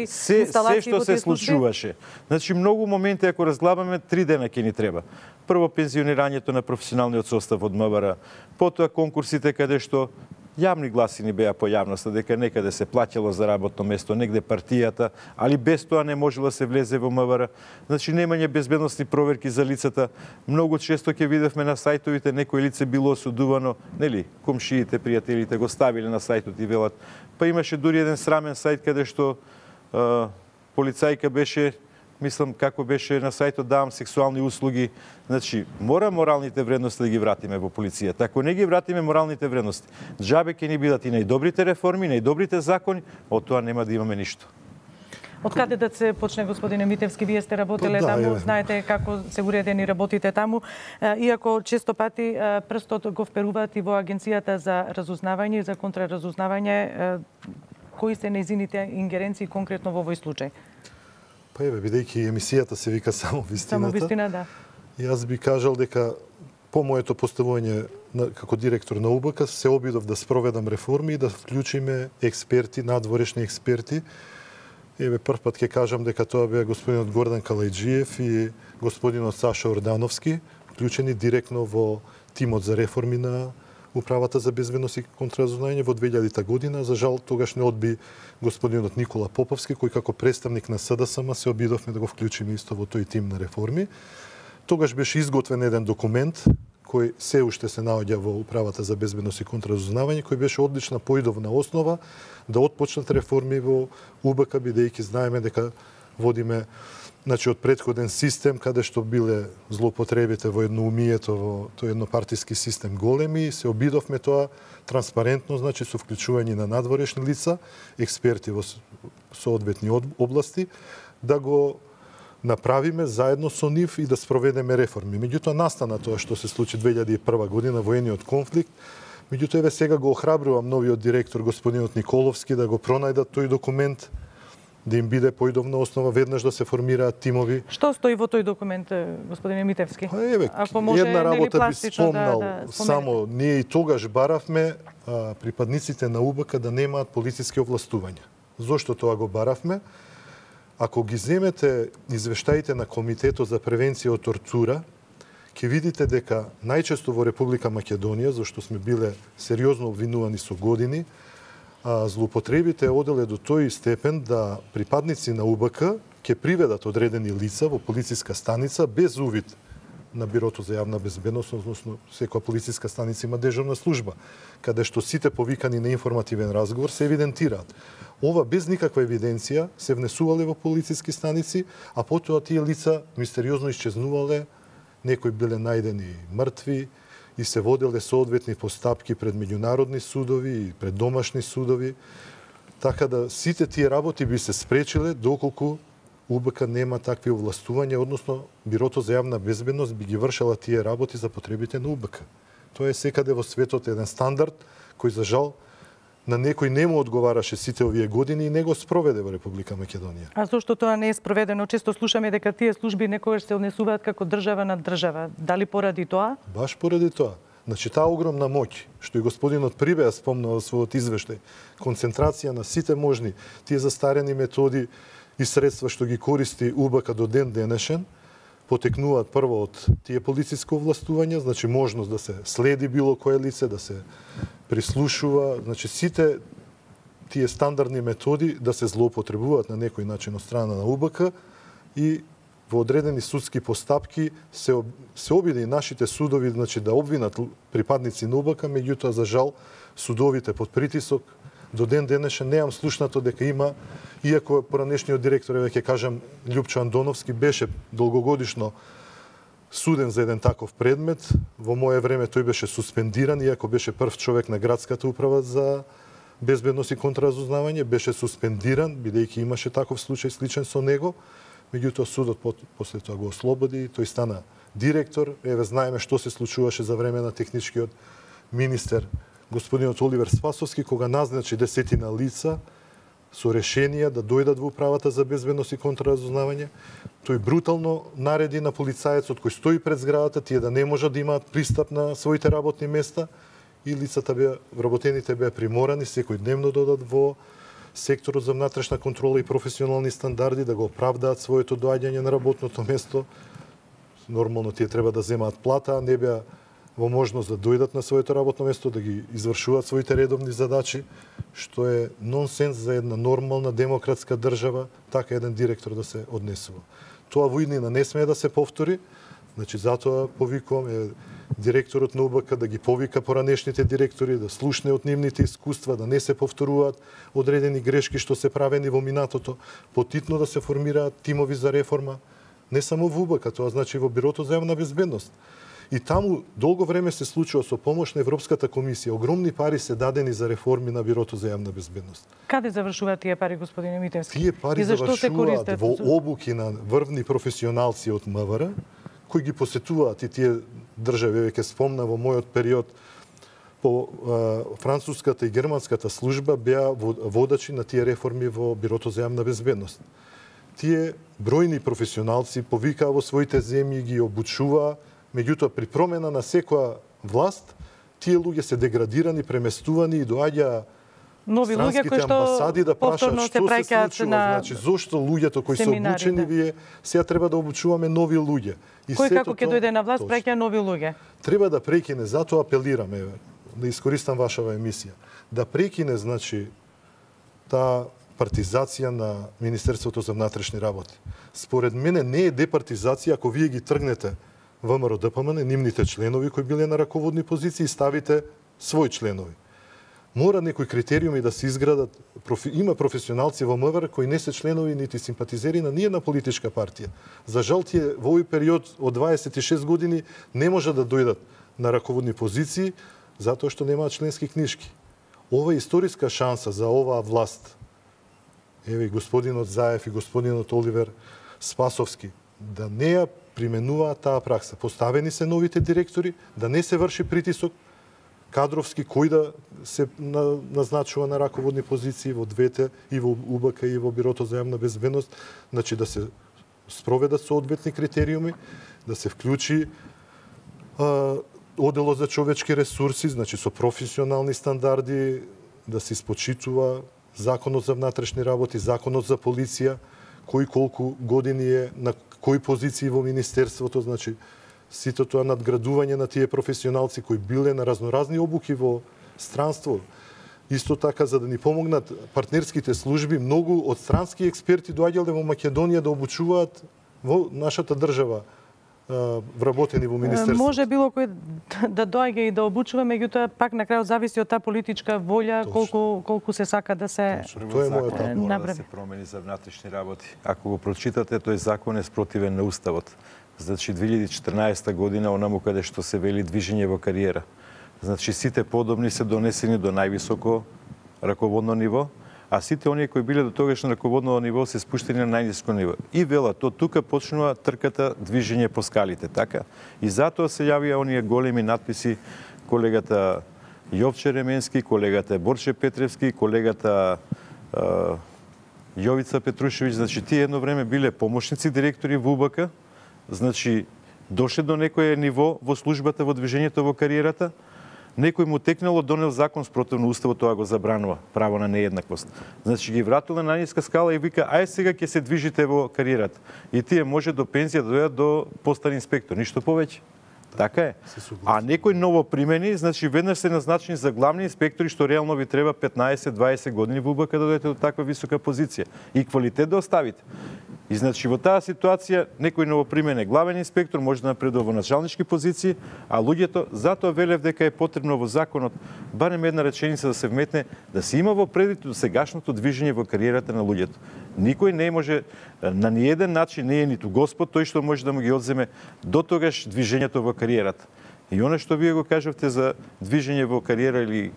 се, се што се случуваше. Значи, многу моменти, ако разглабаме, три дена ќе ни треба. Прво, пензионирањето на професионалниот состав од МВР, потоа конкурсите каде што јавни гласини беа по јавноста дека некаде се плаќало за работно место, негде партијата, али без тоа не можело да се влезе во МВР. Значи немање безбедносни проверки за лицата. Многу често ќе видевме на сајтовите некој лице било осудувано, нели, комшиите, пријателите го ставиле на сајтот и велат. Па имаше дури еден срамен сајт каде што е, полицајка беше, мислам како беше на сајтот давам сексуални услуги. Значи, мора моралните вредности да ги вратиме во полицијата. Ако не ги вратиме моралните вредности, џабе ќе ни бидат и најдобрите реформи, најдобрите закони, од тоа нема да имаме ништо. Од каде да се почне, господине Митевски? Вие сте работеле да, таму, е. знаете како се уредени работите таму. Иако често пати прстот го вперуваат и во Агенцијата за разузнавање и за контраразузнавање, кои се нејзините ингеренции конкретно во овој случај? Па еве, бидејќи емисијата се вика Само вистината. Само вистина, да. Јас би кажал дека по моето поставување на, како директор на У Б К се обидов да спроведам реформи и да вклучиме експерти, надворешни експерти. Еве, прв пат ќе кажам дека тоа беа господинот Гордан Калајджиев и господинот Саша Ордановски, вклучени директно во тимот за реформи на Управата за безбедност и контраразузнавање во две илјадета година. За жал, тогаш не одби господинот Никола Поповски, кој како представник на С Д С М се обидовме да го вклучиме исто во тој тим на реформи. Тогаш беше изготвен еден документ кој се уште се наоѓа во Управата за безбедност и контраразузнавање, кој беше одлична поидовна основа да отпочнат реформи во У Б К, бидејќи знаеме дека водиме, значи, од претходен систем каде што биле злоупотребите во едноумието, во тој еднопартиски систем големи, се обидовме тоа транспарентно, значи со вклучување на надворешни лица, експерти во соодветни области, да го направиме заедно со нив и да спроведеме реформи. Меѓутоа настана тоа што се случи две илјади и прва година, воениот конфликт. Меѓутоа еве сега го охрабрувам новиот директор господинот Николовски да го пронајдат тој документ, да им биде поидовна основа, веднаш да се формираат тимови. Што стои во тој документ, господине Митевски? Па еве, Ако може, една работа нели, би спомнал, да, да само ние и тогаш баравме а, припадниците на У Б К да немаат полициски овластувања. Зошто тоа го баравме? Ако ги земете извештаите на Комитетот за превенција од тортура, ќе видите дека најчесто во Република Македонија, зашто сме биле сериозно обвинувани со години, а, злоупотребите оделе до тој степен да припадници на У Б К ќе приведат одредени лица во полициска станица без увид на Бирото за јавна безбедност, односно секоја полициска станица има дежурна служба, каде што сите повикани на информативен разговор се евидентираат. Ова без никаква евиденција се внесувале во полициски станици, а потоа тие лица мистериозно исчезнувале, некои биле најдени мртви и се воделе соодветни постапки пред меѓународни судови и пред домашни судови. Така да сите тие работи би се спречиле доколку У Б К нема такви овластувања, односно Бирото за јавна безбедност би ги вршела тие работи за потребите на У Б К. Тоа е секаде во светот еден стандард кој за жал на некој не му одговараше сите овие години и не го спроведе во Република Македонија. А зошто тоа не е спроведено? Често слушаме дека тие служби некогаш се однесуваат како држава на држава. Дали поради тоа? Баш поради тоа. Значи, таа огромна моќ, што и господинот Прибеа спомнал во својот извештај, концентрација на сите можни тие застарени методи и средства што ги користи У Б К до ден денешен, потекнуваат прво од тие полициско овластување, значи можност да се следи било кое лице, да се прислушува, значи сите тие стандардни методи да се злоупотребуваат на некој начин од страна на У Б К и во одредени судски постапки се се обиде и нашите судови, значи да обвинат припадници на У Б К, меѓутоа за жал судовите под притисок до ден денешен неам слушнато дека има, иако поранешниот директор, веќе кажам, Љупчо Андоновски беше долгогодишно суден за еден таков предмет. Во мое време тој беше суспендиран, иако беше прв човек на градската управа за безбедност и контраразузнавање, беше суспендиран, бидејќи имаше таков случај сличен со него. Меѓутоа судот после тоа го ослободи, тој стана директор. Еве знаеме што се случуваше за време на техничкиот министер господинот Оливер Спасовски, кога назначи десетина лица со решенија да дојдат во управата за безбедност и контраразузнавање. Тој брутално нареди на полицаецот кој стои пред зградата тие да не можат да имаат пристап на своите работни места и лицата беа, вработените беа приморани секој дневно да одат во секторот за внатрешна контрола и професионални стандарди да го оправдаат своето доаѓање на работното место. Нормално тие треба да земаат плата, а не беа во можност да дојдат на своето работно место, да ги извршуваат своите редовни задачи, што е нонсенс за една нормална демократска држава, така еден директор да се однесува. Тоа во иднина не смее да се повтори, значи затоа повикувам е, директорот на У Б К да ги повика поранешните директори, да слушне од нивните искуства, да не се повторуваат одредени грешки што се правени во минатото, потитно да се формираат тимови за реформа, не само во У Б К, тоа значи во Бирото за јавна безбедност. И таму долго време се случува со помош на Европската комисија. Огромни пари се дадени за реформи на Бирото за јавна безбедност. Каде завршуваат тие пари, господине Митевски? Тие пари завршуваат во обуки на врвни професионалци од М В Р, кои ги посетуваат и тие држави, веќе спомна во мојот период по а, француската и германската служба беа водачи на тие реформи во Бирото за јавна безбедност. Тие бројни професионалци повикаа во своите земји, ги обучуваа. Меѓутоа, при промена на секоја власт, тие луѓе се деградирани, преместувани и доаѓа нови луѓе кои што амбасади да прашаат се што се на случува, значи зошто луѓето кои се обучени да. вие сега треба да обучуваме нови луѓе. И кој како ќе дојде на власт праќа нови луѓе. Треба да прекине, затоа апелираме да искористам вашава емисија, да прекине значи таа партизација на Министерството за внатрешни работи. Според мене не е департизација ако вие ги тргнете Вэ М Р Д П М Н, нивните членови кои биле на раководни позиции, ставите своји членови. Мора некои критериуми да се изградат. Профи... Има професионалци во М В Р кои не се членови нити симпатизери на ниједна политичка партија. За жал тие во овој период од дваесет и шест години не може да дојдат на раководни позиции затоа што немаат членски книжки. Ова е историска шанса за оваа власт. Еве и господинот Заев и господинот Оливер Спасовски да не ја применуваат таа пракса. Поставени се новите директори, да не се врши притисок кадровски кој да се назначува на раководни позиции во двете, и во У Б К и во Бирото за јавна безбедност, значи да се спроведат соодветни критериуми, да се вклучи а, оделот за човечки ресурси, значи со професионални стандарди, да се испочитува законот за внатрешни работи, законот за полиција, кој колку години е на кои позиции во министерството, значи сите тоа надградување на тие професионалци кои биле на разноразни обуки во странство. Исто така, за да ни помогнат партнерските служби, многу од странски експерти доаѓале во Македонија да обучуваат во нашата држава, вработени во министерството. Може било кој да доаѓа и да обучува, меѓутоа пак на крајот зависи од таа политичка волја, колку колку се сака да се Тоа е мојата мора да се промени за внатрешни работи. Ако го прочитате, тој закон е спротивен на уставот. Значи две илјади и четрнаесета година онаму каде што се вели движење во кариера. Значи сите подобни се донесени до највисоко раководно ниво, а сите оние кои биле до тогаш на раководно ниво се спуштени на најниско ниво. И велат, од тука почнува трката движење по скалите, така? И затоа се јавија оние големи надписи колегата Јовче Ременски, колегата Борче Петревски, колегата а, Јовица Петрушевиќ, значи тие едно време биле помошници директори во УБК, значи дошле до некое ниво во службата, во движењето, во кариерата, некој му текнало, донел закон спротивно уставот, тоа го забранува, право на нееднаквост. Значи ги вратил на најниска скала и вика, ај сега ќе се движите во кариерата. И тие може до пензија да дојдат до постар инспектор, ништо повеќе. Така е. А некој ново примени, значи веднаш се назначени за главни инспектори, што реално ви треба петнаесет дваесет години во УБК да дојдете до таква висока позиција и квалитет да оставите. И значи во таа ситуација некој новопримен главен инспектор може да напредува во началнички позиции, а луѓето затоа велев дека е потребно во законот барем една реченица да се вметне да се има во предвид до сегашното движење во кариерата на луѓето. Никој не може на ниеден начин не е ниту Господ тој што може да му ги одземе до тогаш движењето во кариерата. И оно што вие го кажавте за движење во кариера или е,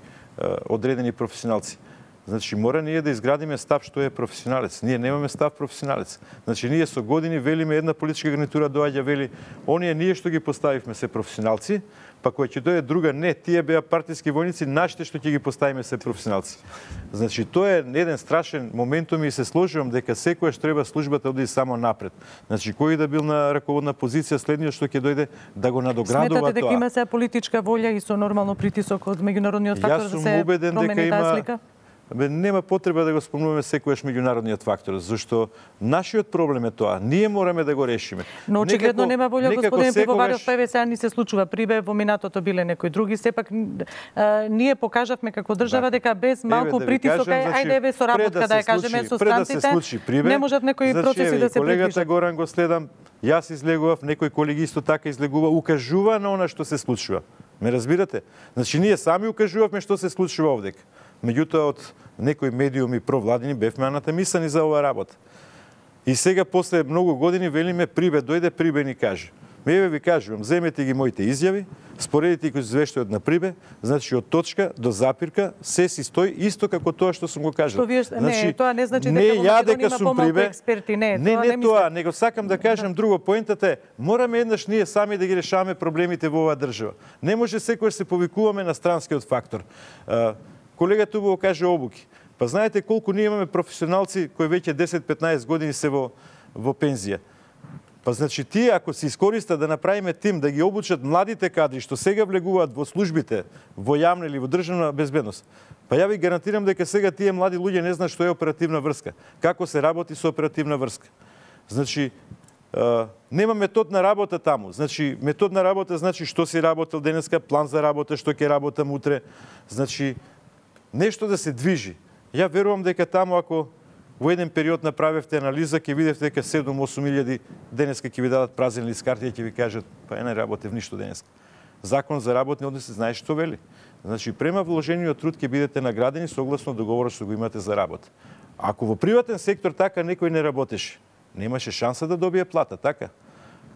одредени професионалци. Значи, мора ние да изградиме став што е професионалец. Ние немаме став професионалец. Значи, ние со години велиме, една политичка гарнитура доаѓа, вели, оние ние што ги поставивме се професионалци, па кој ќе дојде друга, не, тие беа партиски војници, нашите што ќе ги поставиме се професионалци. Значи, тоа е еден страшен моментум и се сложувам дека секојаш треба службата да оди само напред. Значи, кој да бил на раководна позиција, следниот што ќе дојде да го надоградува тоа. Сметате дека има се политичка волја и со нормално притисок од меѓународниот фактор да се промени таа слика? Бе, нема потреба да го спомнуваме секојаш меѓународниот фактор, зашто нашиот проблем е тоа. Ние мораме да го решиме. Но очигледно нема волја, господин Пивоваров, еве сега ни се случува прибе, во минатото биле некои други, сепак а, ние покажавме како држава дека без малку да притисок, кажам, значи, ајде еве со работка да, да ја кажеме со странците, да не можат некои значи, процеси да се колегата придвижат. Горан го следам, јас излегував, некој колеги исто така излегува, укажува на она што се случува. Ме разбирате? Значи ние сами укажувавме што се случува овдека. Меѓутоа од некои медиуми провладени бевме анатемисани за оваа работа. И сега после многу години велиме прибе дојде прибе ни каже. Еве ви кажувам, земете ги моите изјави, споредите ги извештајот на прибе, значи од точка до запирка се си стои исто како тоа што сум го кажал. Што вие значи, не, тоа не значи не дека во Македонија има помалку прибе, експерти, не, не, тоа не, не тоа, него сакам да кажам друго, поентата е, мораме еднаш ние сами да ги решаваме проблемите во оваа држава. Не може секој се повикуваме на странскиот фактор. Колегата убаво каже обуки. Па знаете колку ние имаме професионалци кои веќе десет петнаесет години се во во пензија. Па значи тие ако се искористат да направиме тим да ги обучат младите кадри што сега влегуваат во службите, во јавна или во државна безбедност. Па ја ви гарантирам дека сега тие млади луѓе не знаат што е оперативна врска, како се работи со оперативна врска. Значи Uh, нема метод на работа таму. Значи, метод на работа значи што си работел денеска, план за работа, што ќе работам утре. Значи, нешто да се движи. Ја верувам дека таму ако во еден период направевте анализа, ќе видите дека седум-осум илјади денеска ќе ви дадат празен лист карти и ќе ви кажат, па ја не работев ништо денеска. Закон за работни односи знае што вели. Значи, према вложениот труд ќе бидете наградени согласно договорот што го имате за работа. Ако во приватен сектор така некој не работеше, немаше шанса да добие плата, така?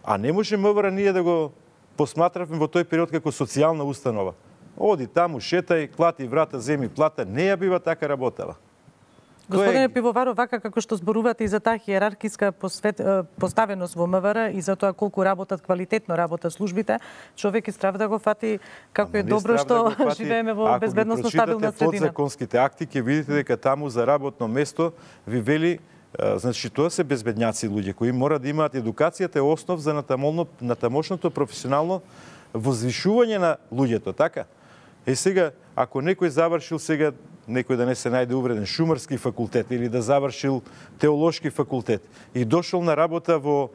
А не може МВР ние да го посматравме во тој период како социјална установа. Оди таму, шетај, клати врата, земи плата, не ја бива така работела. Господине Пивоваров, вака како што зборувате и за таа хиерархиска посвет, поставеност во МВР и за тоа колку работат квалитетно работат службите, човек е страв да го фати како е добро што да живееме во безбедносно стабилна средина. Ако подзаконските акти ќе видите дека таму за работно место ви вели значи тоа се безбедњаци луѓе кои мора да имаат едукацијата е основ за натамошното професионално возвишување на луѓето, така? Е сега ако некој завршил сега некој да не се најде увреден шумарски факултет или да завршил теолошки факултет и дошол на работа во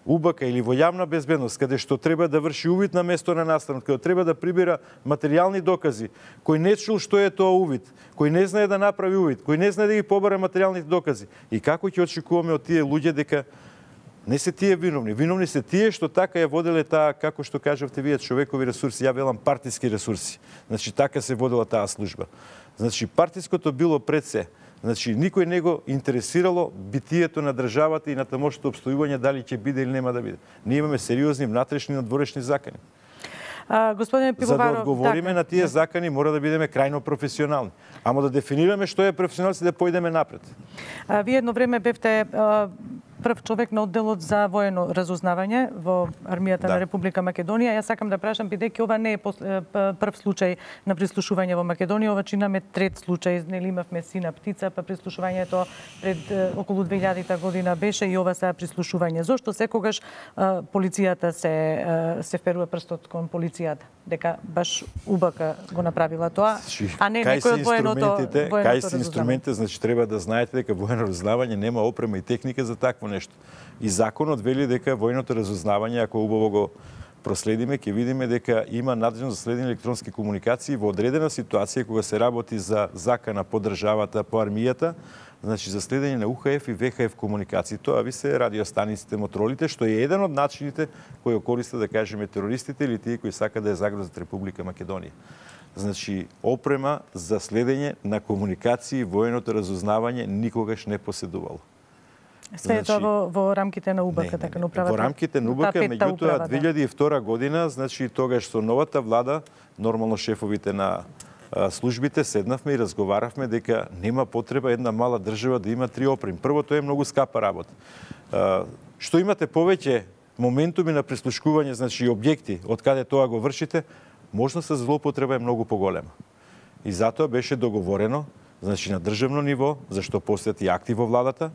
УБК или во јавна безбедност, каде што треба да врши увид на место на настанот, каде треба да прибира материјални докази, кој не чул што е тоа увид, кој не знае да направи увид, кој не знае да ги побара материјалните докази. И како ќе очекуваме од тие луѓе дека не се тие виновни, виновни се тие што така ја воделе таа, како што кажавте вие, човекови ресурси, ја велам партиски ресурси. Значи така се водела таа служба. Значи партиското било пред се. Значи, никој не го интересирало битието на државата и на тамошното обстојување дали ќе биде или нема да биде. Ние имаме сериозни внатрешни и надворешни закани. А, господине Пивоваров, за да одговориме така, на тие закани, мора да бидеме крајно професионални. Ама да дефинираме што е професионалност и да појдеме напред. А, вие едно време бевте а, прв човек на одделот за воено разузнавање во армијата да. на Република Македонија. Јас сакам да прашам, бидејќи ова не е прв случај на прислушување во Македонија, ова чинаме трет случај. Нели имавме Сина птица, па прислушувањето пред околу две илјадета година беше и ова сега прислушување. Зошто секогаш а, полицијата се се вперува прстот кон полицијата? Дека баш УБК го направила тоа, а не некој од военото военото Кај се инструментите, значи треба да знаете дека воено разузнавање нема опрема и техника за такво нешто. И законот вели дека военото разузнавање, ако убаво го проследиме, ќе видиме дека има надлежност за следење електронски комуникации во одредена ситуација кога се работи за закана по државата, по армијата, значи за следење на У Х Ф и В Х Ф комуникации. Тоа ви се радиостаниците, мотролите, што е еден од начините кои користат, да кажеме, терористите или тие кои сакаат да ја загрозат Република Македонија. Значи, опрема за следење на комуникации военото разузнавање никогаш не поседувало. Све е тоа во, во рамките на УБК, така на управата. Во рамките на УБК, меѓутоа две илјади и втора година, значи тогаш со новата влада, нормално шефовите на а, службите седнавме и разговаравме дека нема потреба една мала држава да има три опреми. Прво, тоа е многу скапа работа. А, што имате повеќе моментуми на прислушкување, значи објекти од каде тоа го вршите, можност за злоупотреба е многу поголема. И затоа беше договорено, значи на државно ниво, зашто постојат и акти во владата,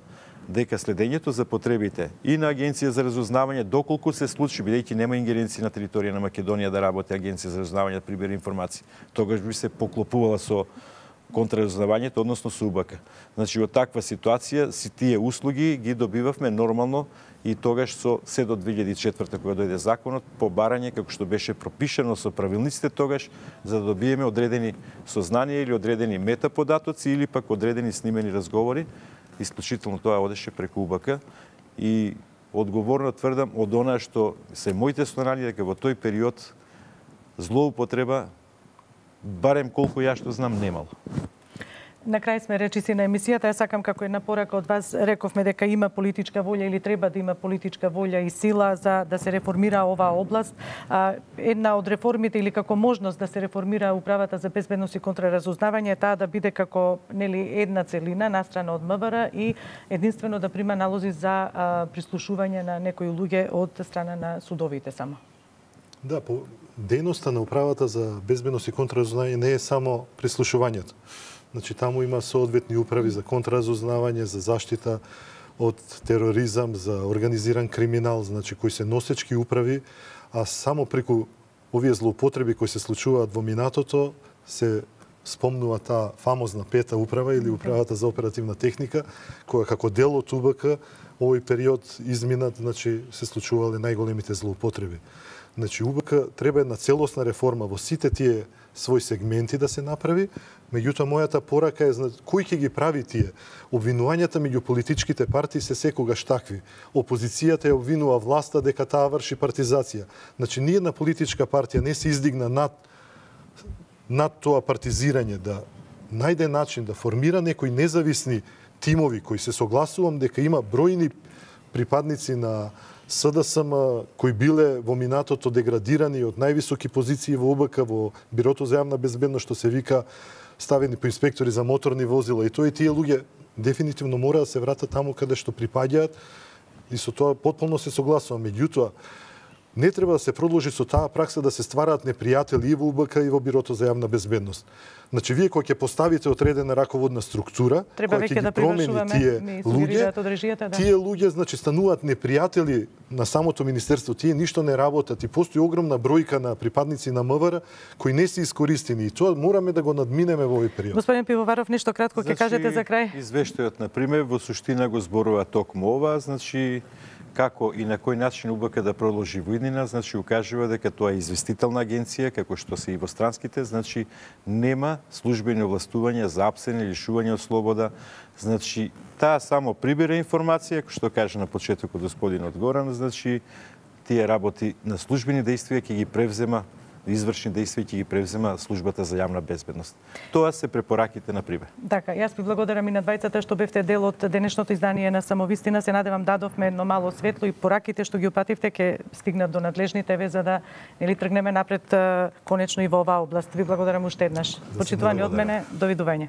дека следењето за потребите и на Агенција за разузнавање, доколку се случи, бидејќи нема ингеренција на територија на Македонија да работи Агенција за разузнавање да прибере информации, тогаш би се поклопувала со контраразузнавањето, односно со УБК. Значи, во таква ситуација, си тие услуги ги добивавме нормално и тогаш со се до две илјади и четврта кога дојде законот, по барање, како што беше пропишано со правилниците тогаш, за да добиеме одредени сознанија или одредени метаподатоци или пак одредени снимени разговори. Исклучително тоа одеше преку УБК и одговорно тврдам од она што се моите сознанија дека во тој период злоупотреба, барем колку ја што знам, немало. На крај сме речиси на емисијата. Ја сакам како една порака од вас, рековме дека има политичка волја или треба да има политичка волја и сила за да се реформира оваа област. А, една од реформите или како можност да се реформира управата за безбедност и контраразузнавање е таа да биде како нели една целина настрана од М В Р и единствено да прима налози за а, прислушување на некои луѓе од страна на судовите само. Да, по дејноста на управата за безбедност и контраразузнавање не е само прислушувањето. Значи, таму има соодветни управи за контраразузнавање, за заштита од тероризам, за организиран криминал, значи кои се носечки управи, а само преку овие злоупотреби кои се случуваат во минатото се спомнува таа фамозна пета управа или управата за оперативна техника, која како дел од УБК овој период изминат, значи се случувале најголемите злоупотреби. Значи, УБК треба една целосна реформа во сите тие своји сегменти да се направи, меѓутоа мојата порака е кој ќе ги прави тие. Обвинувањата меѓу политичките партии се секогаш такви. Опозицијата ја обвинува власта дека таа врши партизација. Значи, ниедна политичка партија не се издигна над над тоа партизирање, да најде начин да формира некои независни тимови кои се согласувам дека има бројни припадници на С Д С М кои биле во минатото деградирани од највисоки позиции во УБК, во Бирото за јавна безбедност, што се вика ставени по инспектори за моторни возила. И тоа и тие луѓе дефинитивно мора да се вратат таму каде што припаѓаат и со тоа потполно се согласувам. Меѓутоа, не треба да се продолжи со таа пракса да се ствараат непријатели и во УБК и во Бирото за јавна безбедност. Значи, вие кога ќе поставите одредена раководна структура, треба која ќе ги да промени тие луѓе, да. тие луѓе, значи, стануваат непријатели на самото министерство. Тие ништо не работат и постои огромна бројка на припадници на М В Р кои не се искористени и тоа мораме да го надминеме во овој период. Господин Пивоваров, нешто кратко ќе значи, кажете за крај? Извештајот, на пример, во суштина го зборува токму ова, значи како и на кој начин УБК да продолжи во иднина, значи укажува дека тоа е известителна агенција, како што се и во странските, значи нема службени овластувања за апсење, лишување од слобода, значи таа само прибира информација, како што каже на почетокот господинот Горан, значи тие работи на службени действија ќе ги превзема извршни дејства ќе ги превзема службата за јавна безбедност. Тоа се препораките на Прибе. Така, јас ви благодарам и на двајцата што бевте дел од денешното издание на Самовистина. Се надевам дадовме едно мало светло и пораките што ги упативте ќе стигнат до надлежните ве за да нели тргнеме напред конечно и во оваа област. Ви благодарам уште еднаш. Почитувани од мене, довидување.